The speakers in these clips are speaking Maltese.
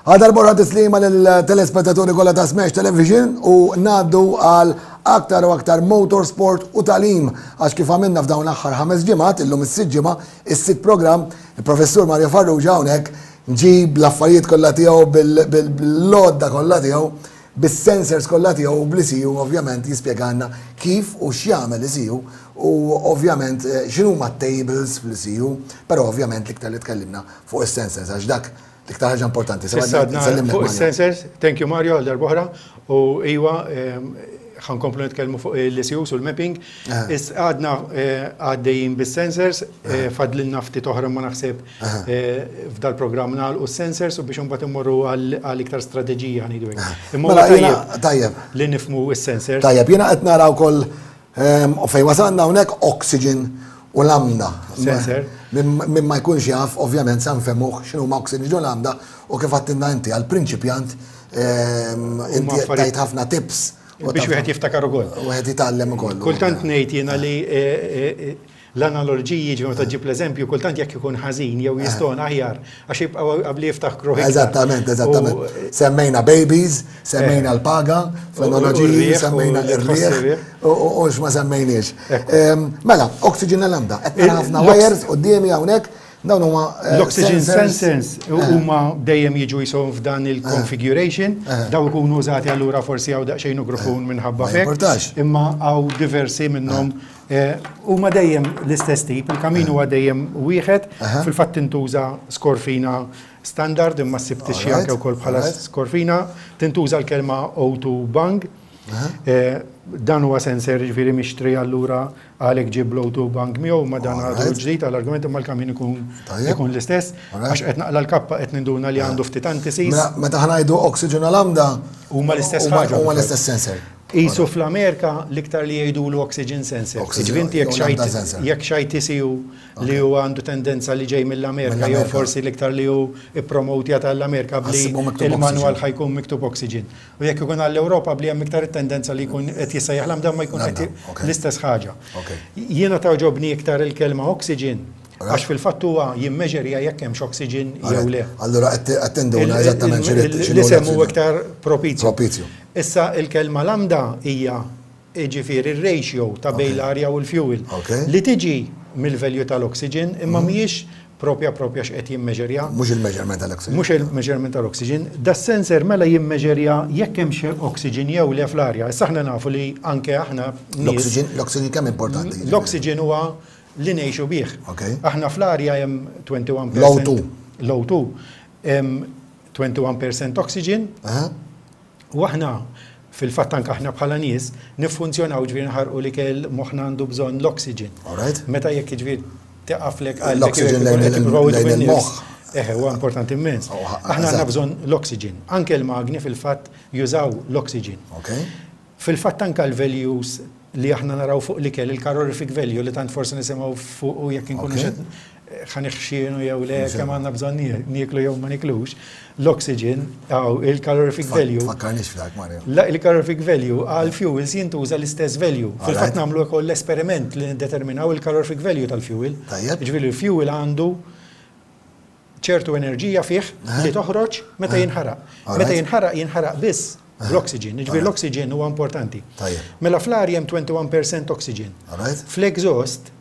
Għadar borra tislima lill-telespettaturi kollha ta' Smash Television u ngħaddu għal aktar u aktar motorsport u talim għax kif għamilna f'dawn l-aħħar ħames ġimgħat, illum is-sitt ġimgħa, is-sitt programm, il-Professur Mario Farrugia hawnhekk ġib l-affarijiet kollha tiegħu bil-lodda kollha tiegħu, bis-sensors kollha tiegħu u bl-ICU ovvjament jispjegalna kif u x'jagħmel ICU u ovvjament eh, x'inhuma t-tables fl-ICU, però ovvjament l-iktar li tkellimna fuq is-sensors għax dak l-iktar ħaġa importanti. Fuq is-sensors, thank you Mario għal darb'oħra u iwa ehm, ħankomplu nitkellmu fuq l-ICUs u l-mapping. Eh. Is għadna eh, għaddejjin bis-sensors, eh, fadlilna ftit oħra ma naħseb f'dal programm nagħlqu s-sensors u biex imbagħad immorru għal iktar strateġija ngħidu hekk. Imma mela, tajjeb tajjeb li nifhmu s-sensors. Tajjeb, jiena qed nara wkoll ehm, u fejn wasalna hawnhekk oxygen u lambda. Sensor. Min ma jkunx jaf, ovvjament, sa nfehmuh x'inhu ma oxygen u lambda u kif għattinna inti għal-prinċipjant ehm, inti tajt ħafna tips Biex wieħed jiftakar ukoll. Wieħed jitgħallem ukoll. Kultant ngħid jiena li eh, eh, l-analogiji ġi meta ġib l-eżempju, kultant jekk ikun ħażin jew jistona aħjar għax jibqgħu qabli jiftakru. Eżattament, eżattament. Semmejna babies, semmejna l-paga, fl-analogiji, semmejna r-rieħ, u x'ma semmejniex. Ehm, mela, oxygen lambda, qed ħafna wires quddiemi hawnhekk Dawn huma eh, L-oxygen sensors eh. huma dejjem jiġu jisom f'dan il-configuration, eh. daw ikunu użati allura forsi hawn daqsxejn ugrufun minħabba fek. Imma hawn diversi minnhom huma dejjem l-istess tip, il-kamin huwa dejjem wieħed, fil-fatt tintuża skorfina standard imma ssib tixxi anke wkoll bħala skorfina, tintuża l-kelma O2 bang. Dan huwa sensor ġifieri mixtri allura Għalhekk ġie bl-O2 bank miegħu ma dan għadu ġdid għall-argument imma l-kamin ikun ikun l-istess. Għax qed naqla l-kappa qed ninduna li għandu ftit antisis. Mela, meta ħnajdu oxygen u lambda huma l-istess ħaġa. Huma l-istess sensor. Isu fl-Amerika l-iktar li jgħidulu oxygen sensor. Ġifieri jekk xajt jekk xajt ICU li huwa għandu tendenza li ġej mill-Amerika jew forsi l-iktar li hu ippromotja tal-Amerika bli il-manwal ħajkun miktub oxygen. U jekk ikun għall-Ewropa bli hemm iktar it-tendenza li jkun qed jissejjaħ lambda ma jkun qed l-istess ħaġa. Jiena togħġobni iktar il-kelma oxygen għax fil-fatt huwa jimmeġerja jekk hemmx oxygen jew le. Allura qed tinduna eżattament x'inhu l-isem huwa iktar propizju. Propizju. Issa il-kelma lambda hija jiġifieri r-ratio ta' bejn l-arja u l-fuel, li tiġi mill-value tal-oxygen imma mhijiex propja propja x'qed jimmeġerja. Mhux il-measurement tal-oxygen. Mhux il-measurement tal-oxygen. Das-sensor mela jimmeġerja jekk hemmx oxygen jew le fl-arja. Issa aħna nafu li anke aħna nies. L-oxygen kemm importanti? L-oxygen huwa li ngħixu bih. Aħna fl-arja hemm 21%. L-O2. L-O2. Hemm 21% oxygen. U aħna, fil-fatt anke aħna bħala nies, niffunzjonaw ġifieri nħarqu l-ikel, moħħna għandu bżonn l-oxygen. Meta jekk jiġifieri tiqaflek qalbek. L-oxygen lejn il-moħħ. Eħe, huwa importanti immens. Aħna għandna bżonn l-oxygen. Anke l-magni fil-fatt jużaw l-oxygen. Fil-fatt anke l-values li aħna naraw fuq l-ikel, il-calorific value li tant forsi nisimgħu fuqu jekk inkunu xed ħa niħxienu jew le, kemm għandna bżonn nieklu jew ma niklux, l-oxygen, il-calorific value. Fakkarniex f'dak, Mario. Il-calorific value għal fuels jintuża l-istess value. Fil-fatt nagħmlu wkoll l-esperiment li niddeterminaw il-calorific value tal-fuel. Jiġifieri l-fuel għandu ċertu enerġija fih li toħroġ meta jinħaraq. Meta jinħaraq, jinħaraq biss bl-oxygen. Jiġifieri l-oxygen huwa importanti. Mela fl-arja hemm 21% oxygen. Fl-exhaust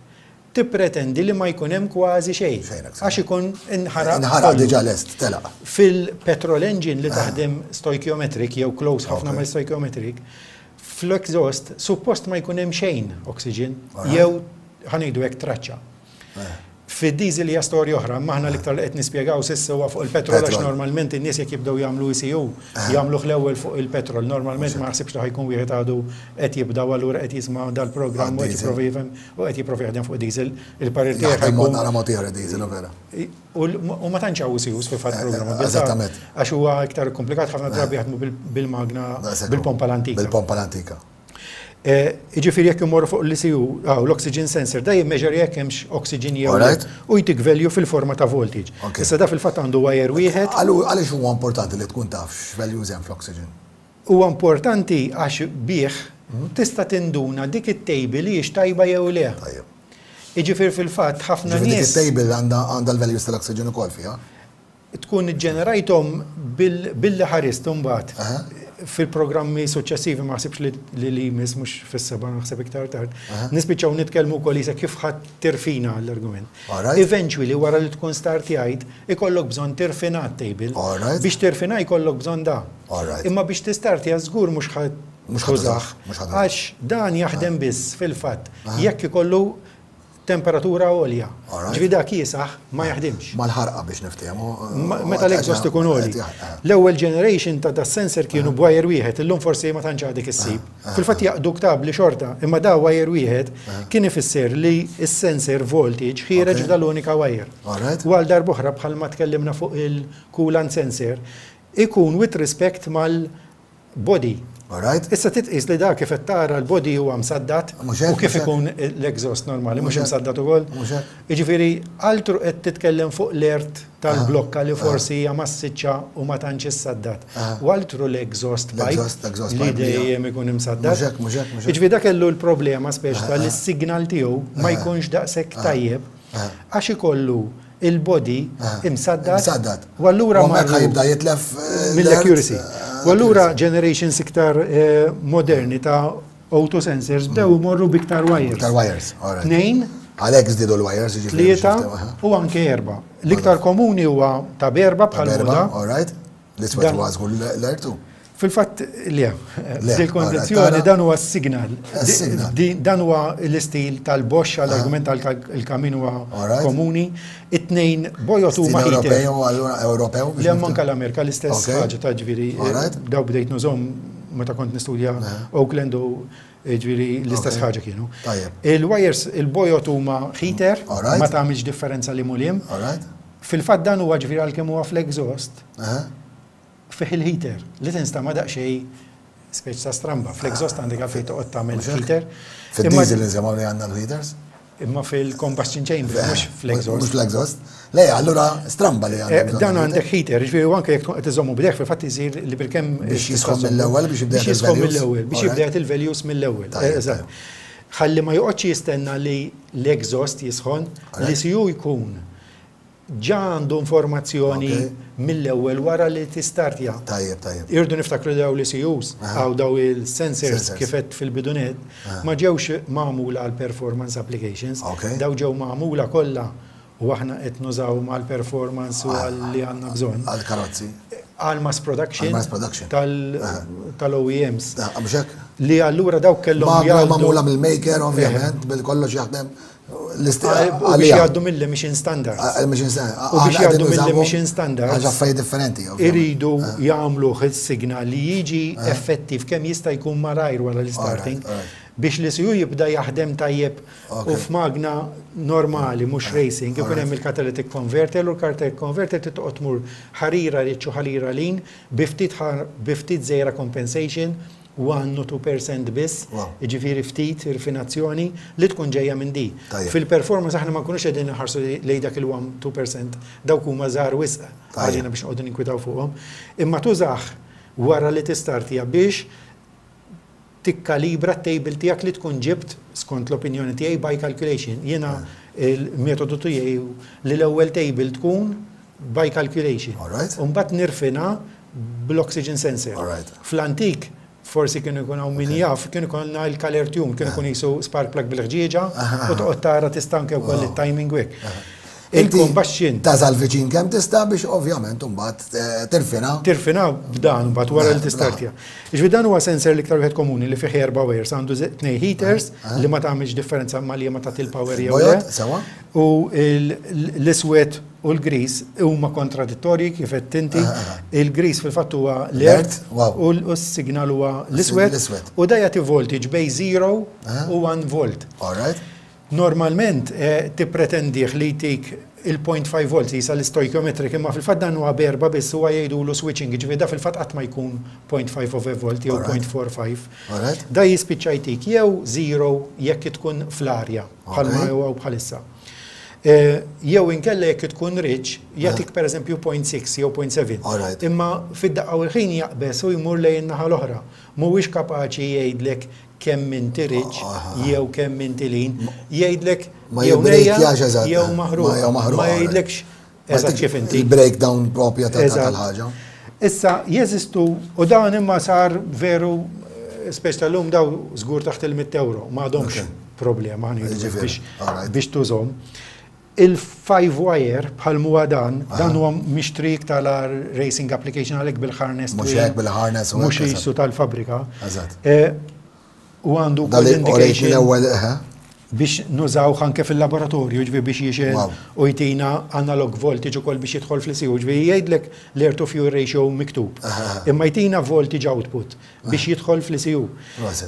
tippretendi li ma jkun hemm kważi xejn. Għax ikun inħaraq. Inħaraq diġà lest, telaq. Fil-petrol engine li taħdem stoichiometric jew close ħafna mal-stoichiometric, fl-exhaust suppost ma jkun hemm xejn oxygen jew ħa ngħidu hekk traċċa. Fid-diesel hija storja oħra, imma aħna l-iktar li qed nispjegaw s'issa huwa fuq il-petrol għax normalment in-nies jekk jibdew jagħmlu ECU, jagħmluh l-ewwel fuq il-petrol. Normalment ma naħsibx li ħa jkun wieħed għadu qed jibda u allura qed jisma' dal-programm u qed jipprova jifhem u qed jipprova jaħdem fuq diesel. Il-parir tiegħi ħa jkun. Jaħdem naqra mod ieħor id-diesel, hu vera. U ma tantx hawn ECUs fil-fatt programmabbiltà. Eżattament. Għax huwa iktar komplikat ħafna drabi jaħdmu bil-magna, bil-pompa l-antika. Bil-pompa l-antika. Jiġifieri jekk immorru fuq l-ECU, hawn l-oxygen sensor, da jimmeġerja jekk hemmx oxygen jew le u jtik value fil-forma ta' voltage. Issa da fil-fatt għandu wire wieħed. Għaliex huwa importanti li tkun taf x'values hemm fl-oxygen? Huwa importanti għax bih tista' tinduna dik it-table hijiex tajba jew le. Jiġifieri fil-fatt ħafna nies. Dik it-table għandha l-values tal-oxygen ukoll fiha? Tkun iġġenerajthom billi ħarist imbagħad fil-programmi suċċessivi ma ħsibx li li jmiss mhux fis-seba' naħseb iktar tard. Nispiċċaw nitkellmu wkoll isek kif ħadd tirfina l-argument. Eventually wara li tkun startjajt ikollok bżonn tirfina t-table. Biex tirfina jkollok bżonn da. Imma biex tistartja żgur mhux ħa tużah għax dan jaħdem biss fil-fatt jekk ikollu temperatura għolja. Ġifieri dak kiesaħ ma jaħdimx. Mal-ħarqa biex niftehmu. Meta l-exhaust ikun għoli. L-ewwel generation ta' da sensor kienu b'wire wieħed, illum forsi ma tantx għadek issib. Fil-fatt jaqdu ktabli xorta, imma da wire wieħed kien ifisser li s-sensor voltage ħiereġ f'dal-unika wire. U għal darb'oħra bħalma tkellimna fuq il-coolant sensor, ikun with respect mal body. Alright. Issa trid tqis li dak kif qed tara l-body huwa msaddad u kif ikun l-exhaust normali mhux imsaddad ukoll. Mhux hekk. Jiġifieri altru qed titkellem fuq l-ert tal-blokka li forsi hija massiċċa u ma tantx issaddad. U altru l-exhaust pipe li dejjem ikun imsaddad. Mhux hekk, mhux hekk, mhux hekk. Jiġifieri dak kellu l-problema speċi ta' li s-signal tiegħu ma jkunx daqshekk tajjeb għax ikollu il-body imsaddad. Imsaddad. U allura U hemmhekk jibda jitlef mill-accuracy. U allura generations iktar moderni ta' auto sensors bdew imorru biktar wires. Iktar wires, all right. Tnejn. Għalhekk żdiedu l-wires, jiġifieri. Tlieta u anke erba'. L-iktar komuni huwa ta' b'erba' bħal moda. All right. L-iswed huwa żgur l-ertu. Fil-fatt, le. F'dil-kondizzjoni dan huwa s-signal. Dan huwa l-istil tal-Bosch għall-argument tal-kamin huwa komuni. It-tnejn bojod huma heater. Ewropew. Le manka l-Amerika l-istess ħaġa ta' ġifieri. Daw bdejt nużhom meta kont nistudja Oakland u ġifieri l-istess ħaġa kienu. Il-wires, il-bojod huma heater, ma tagħmilx differenza li muliem. Fil-fatt dan huwa ġifieri għalkemm huwa fl-exhaust. Fih il-heater, li tinstama' daqsxejn speċi ta' stramba. Fl-exhaust għandek għalfejn toqgħod tagħmel heater. Fid-diesel insemgħu li għandna l-heaters? Imma fil-combustion chamber, mhux fl-exhaust. Mhux fl-exhaust. Le, allura stramba li għandek. Dan għandek heater, ġifieri u anke jekk tkun qed iżommu b'idejk fil-fatt isir li bilkemm. Biex jisħon mill-ewwel biex jibda Biex jisħon mill-ewwel, biex jibda jagħti l-values mill-ewwel. Eżatt. Ħalli ma joqgħodx jistenna li l-exhaust jisħon, l-ECU jkun Ġa għandu informazzjoni mill-ewwel wara li tistartja. Tajjeb, tajjeb. Irridu niftakru li dawn l-ECUs, hawn dawn il-sensors kif għedt fil-bidu nett, ma ġewx magħmula għal performance applications. Dawn ġew magħmula kollha u aħna qed nużawhom għal performance u għal li għandna bżonn. Għal karozzi. Għal mass production. Għal mass production. Tal-OEMs. Mhux hekk? Li allura dawk kellhom jgħaddu. Magħmula mill-maker ovvjament, bil-kollox jaħdem. U biex jgħaddu mill-emission standards. Emission standards. U biex jgħaddu mill-emission standards. Għax affarijiet differenti. Iridu jagħmluh is-signal li jiġi effettiv kemm jista' jkun malajr wara l-starting biex l-ECU jibda jaħdem tajjeb u f'magna normali mhux racing ikun hemm il-catalytic converter u l-catalytic converter trid toqgħod tmur ħarira rich u ħarira lean bi ftit bi ftit żgħira compensation 1 u 2% biss, jiġifieri ftit irfinazzjoni li tkun ġejja minn di. Fil-performance aħna ma nkunux qegħdin inħarsu lejn dak il-1, 2%, dawk huma żgħar wisq għalina biex noqogħdu ninkwitaw fuqhom. Imma tużah wara li tistartja biex tikkalibra t-table tiegħek li tkun ġibt, skont l-opinjoni tiegħi, by calculation. Jiena l-metodu tiegħi hu li l-ewwel table tkun by calculation. U mbagħad nirfina bl-oxygen sensor. Fl-antik, forsi kienu jkun hawn min jaf, kien ikollna l-color tune, kien ikun qisu spark plug bil-ħġieġa u toqgħod tara tista' anke wkoll it-timing u hekk. Il-combustion. Tasal viċin kemm tista' biex ovvjament imbagħad tirfina. Tirfina b'dan mbagħad wara li tistartja. Jiġifieri dan huwa sensor l-iktar wieħed komuni li fih erba' wires, għandu tnej heaters li ma tagħmilx differenza ma liema tagħti l-power jew le. Sewa. U l-iswed u l-griż huma kontradittorji kif għedt inti. Il-griż fil-fatt huwa l-earth u s-signal huwa l-iswed. U da jagħti voltage bejn 0 u 1 volt. All right. Normalment tippretendih li jtik il-0.5 volts qisha l-istoichiometric imma fil-fatt dan huwa b'erba' biss huwa jgħidulu switching jiġifieri da fil-fatt qatt ma jkun 0.5 of a volt jew 0.45. Da jispiċċa jtik jew zero jekk tkun fl-arja bħalma huwa bħalissa. Jew inkella jekk tkun rich jagħtik pereżempju 0.6 jew 0.7. Imma fid-daqqa u l-ħin jaqbeż u jmur lejn in-naħa l-oħra. Mhuwiex kapaċi jgħidlek kemm inti rich jew kemm inti lean, jgħidlek jew nejja jew maħruqa, ma jgħidlekx eżatt kif inti. Il-breakdown propja tal-ħaġa. Issa jeżistu u dan imma sar veru speċ tal-lum daw żgur taħt il-100 euro, ma għadhomx problema biex tużhom. Il-five wire bħal m'huwa dan, dan huwa mixtri iktar għal racing application għalhekk bil-harness. Mhux hekk bil-harness. Mhux qisu tal-fabbrika. Eżatt. U għandu wkoll indication. L-ewwel eħe. Biex nużawh anke fil-laboratorju, ġifieri biex jixgħel u jtina analog voltage ukoll biex jidħol fl-ECU, ġifieri jgħidlek l-air to fuel ratio miktub. Imma jtina voltage output biex jidħol fl-ECU.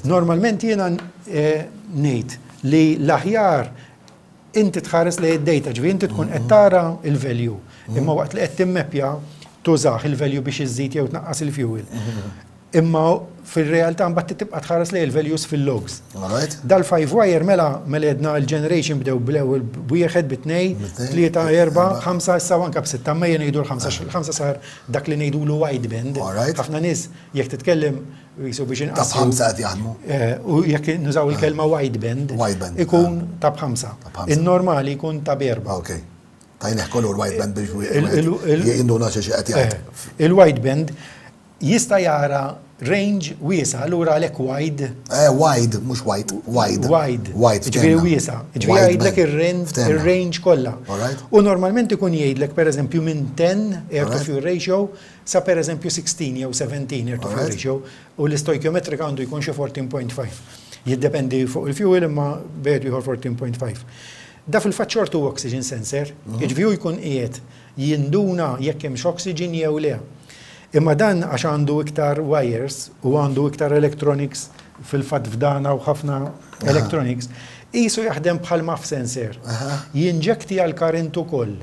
Normalment jiena ngħid li l-aħjar Inti tħares lejn id-data, ġifieri inti tkun qed tara l-value, imma waqt li qed timmeppja tużah il-value biex iżżid jew tnaqqas il-fuel. Imma fir-realtà mbagħad trid tibqa' tħares lejn il-values fil-logs. Dal-five wire mela mela għedna l-generation bdew bl-ewwel b'wieħed, bi tnejn, tlieta, erbgħa, ħamsa, issa anke b'sitta, imma ejja ngħidu l-ħamsa għax il-ħamsa sar dak li ngħidulu wideband. Ħafna nies jekk titkellem Jisu biex inqassru. Ta' b'ħamsa qed jaħdmu. U jekk nużaw il-kelma wideband. Wideband. Ikun ta' b'ħamsa. In-normali jkun ta' b'erba'. Ok. Tajnieh kolur wideband biex jinduna xi qed jgħid. Il-wideband jista' jara range wiesa', allura għalhekk wide. Wide, mhux white, wide. Wide. Wide. Ġifieri wiesa'. Ġifieri jgħidlek ir-range kollha. U normalment ikun jgħidlek pereżempju minn 10 air to fuel ratio Sa per eżempju 16 jew 17 air to fuel ratio u l-istoikjometrika għandu jkun xi 14.5. Jiddependi fuq il-fuel imma bejn ieħor 14.5. Da fil-fatt xorta huwa oxygen sensor, jiġifieri hu jkun qiegħed jinduna jekk hemmx oxygen jew le. Imma dan għax għandu iktar wires u għandu iktar electronics fil-fatt f'dan hawn ħafna electronics, qisu jaħdem bħal MAF sensor. Jinġektja l-current ukoll.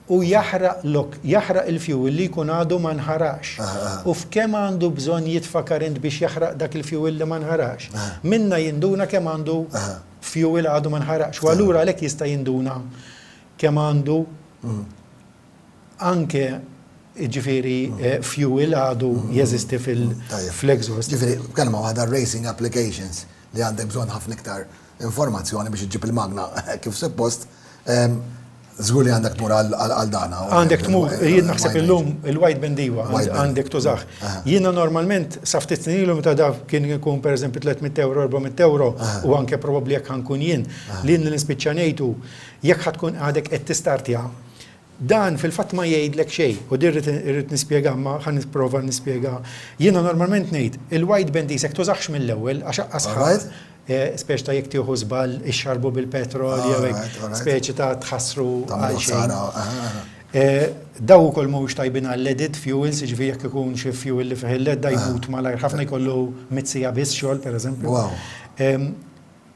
U jaħraq l-ok, jaħraq il-fuel li jkun għadu ma nħaraqx. U f'kemm għandu bżonn jitfa' current biex jaħraq dak il-fuel li ma nħaraqx. Minnha jinduna kemm għandu fuel għadu ma nħaraqx. U allura għalhekk jista' jinduna kemm għandu anke jiġifieri fuel għadu jeżisti fl-exhaust. Jiġifieri, b'kelma waħda racing applications li għandek bżonn ħafna iktar informazzjoni biex iġġib il-magna kif suppost, Żgur li għandek tmur għal dan. Għandek tmur, jien naħseb illum il-white band iwa, għandek tużah. Jiena normalment sa ftit snin ilu meta da kien ikun pereżempju 300 euro, 400 euro u anke probabbli jekk ħa nkun jien, li jien li nispiċċa ngħid hu jekk ħa tkun għadek qed tistartja, dan fil-fatt ma jgħidlek xejn u din irrid nispjega imma ħa nipprova nispjega. Jiena normalment ngħid il-white band qisek tużahx mill-ewwel għax aqqas ħadd Speċi ta' jekk tieħu żball ixxarbu bil-petrol jew hekk, speċi ta' tħassru għal xejn. Daw ukoll mhumiex tajbin għal leaded fuels, jiġifieri jekk ikun xi fuel li fih il-lead da jmut malajr ħafna jkollu mitt siegħa biss xogħol pereżempju.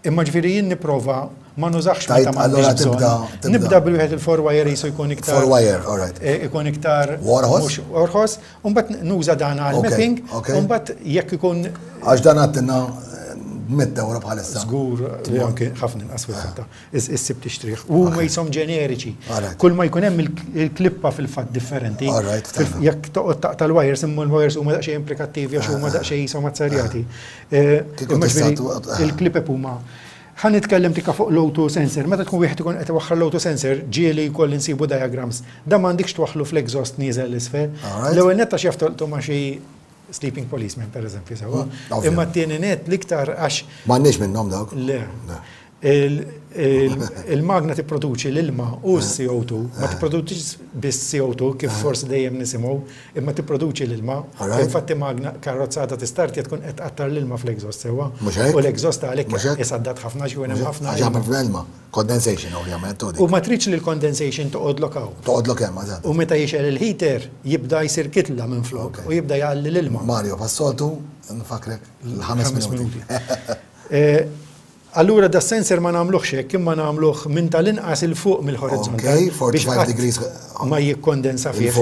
Imma ġifieri jien nipprova ma nużahx meta m'għandix bżonn. Nibda bil-wieħed il-four wire qisu jkun iktar. Four wire, all right. Ikun iktar. Orħos. Orħos. U mbagħad nuża dan għal mapping, u mbagħad jekk ikun. Għax dan għattilna 100 euro bħalissa. Żgur, anke ħafna inqas fil-fatt. Issib tixtrih. U huma jisom ġeneriċi. Kull ma jkun hemm il-klippa fil-fatt differenti. Jekk toqgħod taqta' l-wires, imma l-wires huma daqsxejn implikattivi għax huma daqsxejn jisom azzarjati. Il-klipep huma Ħa nitkellem tikka fuq l-O2 sensor. Meta tkun wieħed ikun qed iwaħħal l-O2 sensor, ġieli jkolli nsibu diagrams. Dan m'għandikx twaħħlu fl-exhaust nieżel 'l isfel. L-ewwel nett għax jaf tolqtu ma' xi sleeping policeman pereżempju sewwa. Imma t-tieni nett l-iktar għax. M'għandniex minnhom dawk. Le. Il-magna tipproduċi l-ilma u s-CO2, ma tipproduċix biss CO2 kif forsi dejjem nisimgħu, imma tipproduċi l-ilma. Infatti magna karrozzata tistartja tkun qed tqattar l-ilma fl-exhaust sewwa. U l-exhaust għalhekk isaddat ħafna għax ikun hemm ħafna ilma. Condensation ovvjament. U ma tridx li l-condensation toqgħodlok hawn. Toqgħodlok hemm, eżatt. U meta jixgħel il-heater jibda jsir kitla minflok u jibda jgħalli l-ilma. Mario, bħas-soltu nfakkrek l-ħames minuti. Allura da sensor ma nagħmluhx hekk imma nagħmluh minn tal-inqas 'il fuq mill-horizontal. Okay, 45 degrees. Ma jikkondensa fih.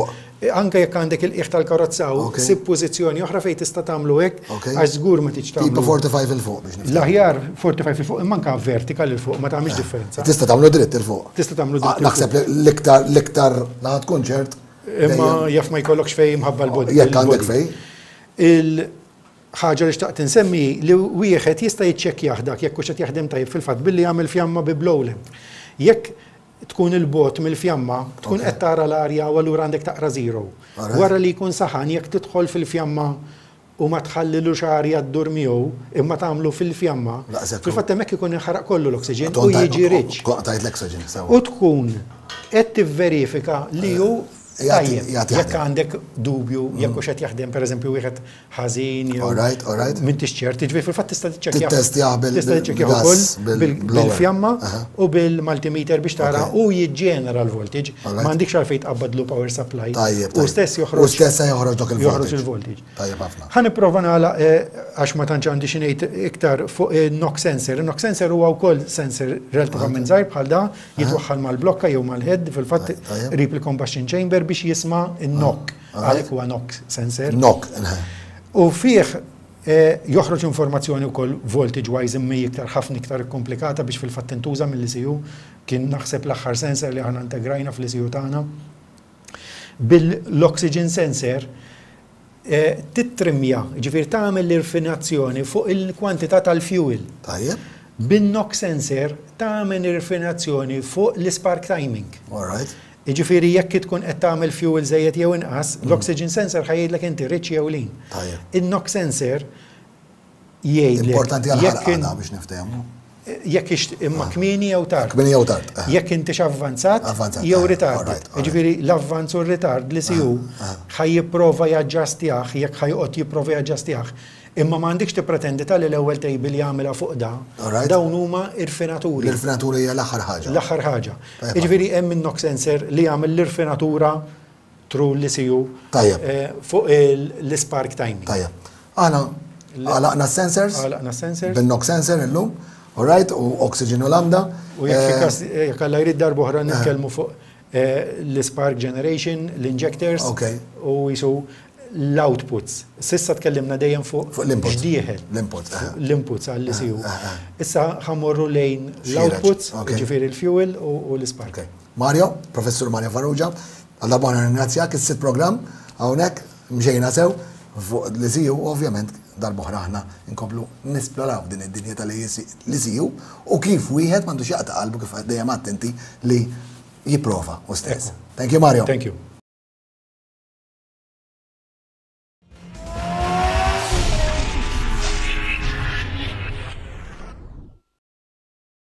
Anke jekk għandek il-qiegħ tal-karozza u sib pożizzjoni oħra fejn tista' tagħmlu hekk għax żgur ma tridx tagħmlu. Tipo 45 'il fuq biex nifhem. L-aħjar 45 'il fuq imma anke vertical 'il fuq ma tagħmilx differenza. Tista' tagħmlu dritt 'il fuq. Tista' tagħmlu dritt. Naħseb l-iktar l-iktar la tkun ċert. Imma jaf ma jkollokx fejn imħabba l-body. Jekk għandek fejn. Ħaġa li xtaqt insemmi hi li wieħed jista' jiċċekkjah dak jekk hux qed jaħdem tajjeb fil-fatt billi jagħmel fjamma bi blow lamp. Jekk tkun 'il bogħod mill-fjamma, tkun qed tara l-arja u allura għandek taqra zero. Wara li jkun saħan jekk tidħol fil-fjamma u ma tħallilux arja ddur miegħu imma tagħmlu fil-fjamma, fil-fatt hemmhekk ikun inħaraq kollu l-oxygen u jiġi rich. U tkun qed tivverifika li hu tajjeb. Jekk għandek dubju jekk hux qed jaħdem pereżempju wieħed ħażin jew Alright, alright. m'intix ċert, jiġifieri fil-fatt tista' tiċċekkjah. Tittestjah bil- Tista' tiċċekkjah bil-gas, ukoll bil-blower. bil-fjamma u bil-multimeter biex tara u jiġġenera l-voltage. Alright. M'għandikx għalfejn tqabbadlu power supply. Tajjeb, U tajjeb. stess joħroġ. U stess se joħroġ dak il-voltage. Joħroġ il-voltage. Tajjeb ħafna. Ħa nipprova nagħlaq għax ma tantx għandi xi ngħid iktar fuq in-knock sensor. Il-knock sensor huwa wkoll sensor relattivament żgħir bħal da, jitwaħħal mal-blokka jew mal-head, fil-fatt qrib il-combustion chamber biex jisma' n-knock. Għalhekk huwa knock sensor. Knock. U fih joħroġ informazzjoni wkoll voltage wise imma hi iktar ħafna iktar ikkomplikata biex fil-fatt tintuża mill-ECU. Kien naħseb l-aħħar sensor li aħna integrajna fl-ECU tagħna. Bil-oxygen sensor tittrimja, jiġifieri tagħmel l-irfinazzjoni fuq il-kwantità tal-fuel. Tajjeb. Bin-knock sensor tagħmel irfinazzjoni fuq l-ispark timing. All right. Jiġifieri jekk tkun qed tagħmel fuel żejjed jew inqas, l-oxygen sensor ħa jgħidlek inti rich jew lean. Tajjeb. In-knock sensor jgħidlek. Importanti għal ħarqa biex niftehmu. Jekk ix imma kmieni jew tard. Kmieni jew tard. Jekk intix avvanzat jew ritard. Jiġifieri l-avvanz u r-ritard l-ECU ħa jipprova jaġġastjah jekk ħa joqgħod jipprova jaġġastjah. Imma ma għandikx tippretendi talli l-ewwel table jagħmilha fuq da. Dawn huma irfinaturi. L-irfinatura hija l-aħħar ħaġa. L-aħħar ħaġa. Jiġifieri hemm in-knock sensor li jagħmel l-irfinatura through l-ECU fuq l-ispark timing. Tajjeb. Aħna għalaqna s-sensors. Għalaqna s-sensors. Bin-knock sensor illum. All right, u oxygen u lambda. U jekk fi każ jekk Alla jrid darb'oħra nitkellmu fuq l-spark generation, l-injectors u jisu l-outputs. Sissa tkellimna dejjem fuq x'dieħel. L-inputs. L-inputs għall-ECU. Issa ħammorru lejn l-outputs, ġifieri l-fuel u l-spark. Mario, Professur Mario Farrugia, għal darba ringrazzjak is-sitt programm hawnhekk mxejna sew fuq l-ECU ovvjament darb'oħra aħna nkomplu nisploraw din id-dinja tal-ECU u kif wieħed m'għandux jaqta' qalbu kif dejjem għedt inti li jipprova u stess. Thank you Mario. Thank you.